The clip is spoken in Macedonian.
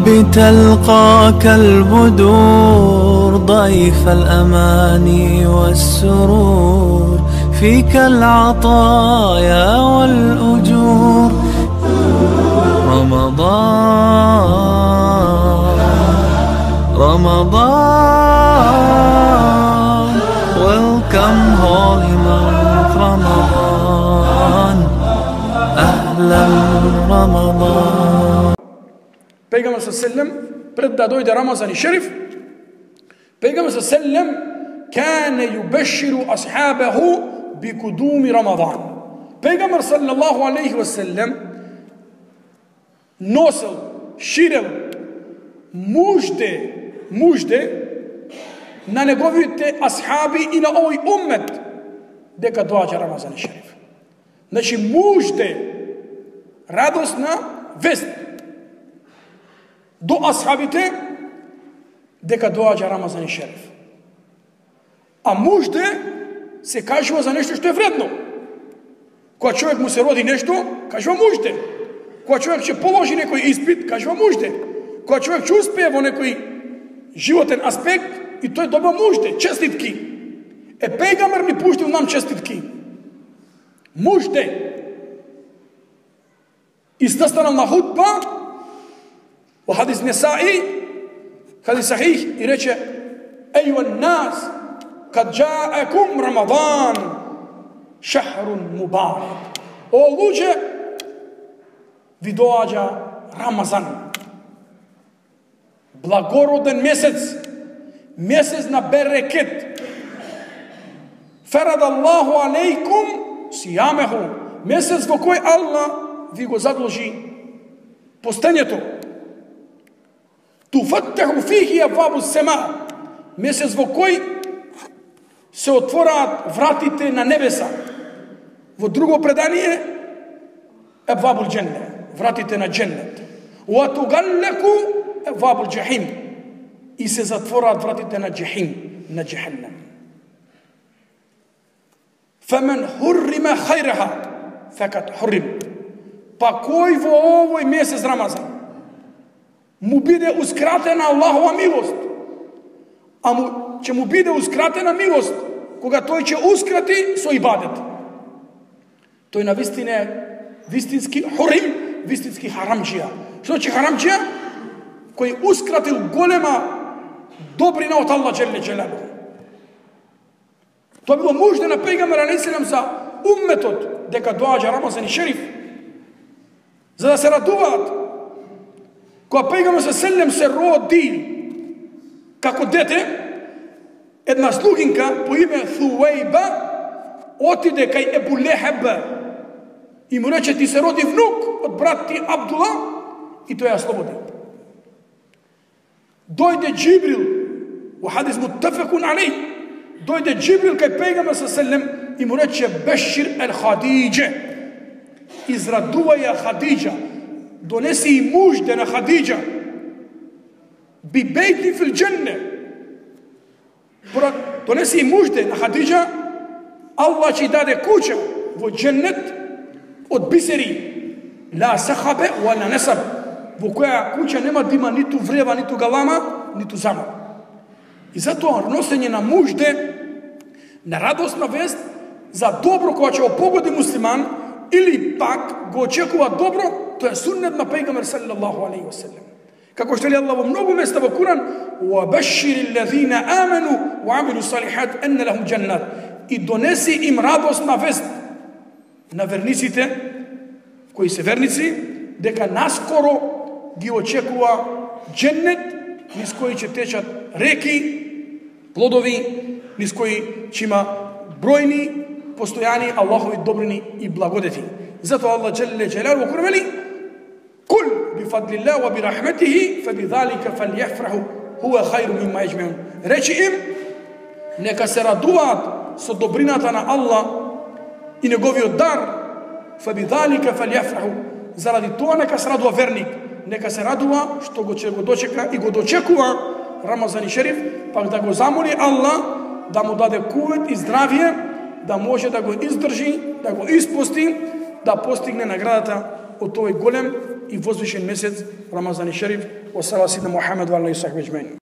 بتلقاك البدور ضيف الأماني والسرور فيك العطايا والأجور رمضان welcome holy month رمضان أهلا رمضان. Пейгамбер ﷺ пред да дојде Рамазан и Шериф, Пейгамбер ﷺ кане юбеширу асхабаху бикудуми Рамадан. Пейгамбер саллаллаху алейхи ва селлем носел, ширел мужде на неговите асхаби и на овој уммет дека доаѓа Рамазан и Шериф. Значи мужде радосна вест до асхабите дека доаѓа Рамазан и Шериф. А мужде се кажува за нешто што е вредно. Кога човек му се роди нешто, кажува мужде. Кога човек ќе положи некој испит, кажува мужде. Кога човек ќе успее во некој животен аспект, и тој добива мужде, честитки. Пејгамбер ни пуштил нам честитки. Мужде. И застанал на хутба, во хадис Несаи, хадис Сахих, и рече: Ејуан нас, кад джаекум Рамадан, шахрун мубарак. О луѓе, ви доаѓа Рамазан. Благороден месец, месец на берекет. Фарад Аллаху алейкум сиямеху, месец во кој Аллах ви го задолжи постењето. Туфаттаху фихи абвабу сема, месец во кој се отвораат вратите на небеса. Во друго предание абвабул дженне, вратите на дженнет. Ва тугаллеку абвабул джахим, и се затвораат вратите на джахим, на джаханнам. Фамен хуррима хајраха факат хуррим. Па кој во овој месец Рамазан му бидеускратена Аллахова милост, а ќе му бидеускратена милост кога тој ќе ускрати со ибадет. Тој на вистина е вистински хурим, вистински харамџија. Што значи харамџија? Којускратил голема добрина од Аллах джелле джелалу. Тоа било мужде на пејгамбер алейхиссалам за умметот дека доаѓа Рамазан и Шериф, за да се радуваат. Кога пејгамбер ﷺ се роди како дете, една слугинка по име Thuwayba отиде кај Ебу Лехеб и му рече: ти се роди внук од брат ти Абдула, и тој ја слободи. Дојде Джибрил, во хадис муттафакун алейх, дојде Джибрил кај пејгамбер ﷺ и му рече: Бешир ел Хадиџе, израдувај ја Хадиџа, донеси и мужде на Хадиџа, би бейти фил дженне, донеси и мужде на Хадиџа, Аллах ќе даде куќа во дженнет од бисери, ла сахабе вала насаб, во која куќа нема да има ниту врева, ниту галама, ниту замок. И затоа носење на мужде, на радосна вест за добро кога ќе го погоди муслиман, или пак го очекува добро, тоа е суннет на пејгамбер саллаллаху алейхи ва селлем. Како што вели Аллах во многу места во Куран: "Ва баширил лазина аману ва амилу салихат анна лахум джаннат", и донеси им радосна вест на верниците кои се верници, дека наскоро ги очекува дженнет, низ кој ќе течат реки, плодови, низ кои ќе има бројни постојани Аллахови добрини и благодети. Затоа Аллах джелле джелалу во Куран вели: "Кул бифадлилlah ва бирахматихи фабидалика фалјафраху хуа хајру мимма јаџмеун." Речи им, нека се радуваат со добрината на Аллах и неговиот дар. Фабидалика фалјафраху, заради тоа нека се радува верник, нека се радува што го дочека и го дочекува Рамазан и Шериф, пак да го замоли Аллах да му даде кувет и здравие, да може да го издржи, да го испости, да постигне наградата од тој голем и возвишен месец Рамазан и Шериф. Wa sallallahu Muhammad wa alihi wa sahbihi ajma'in.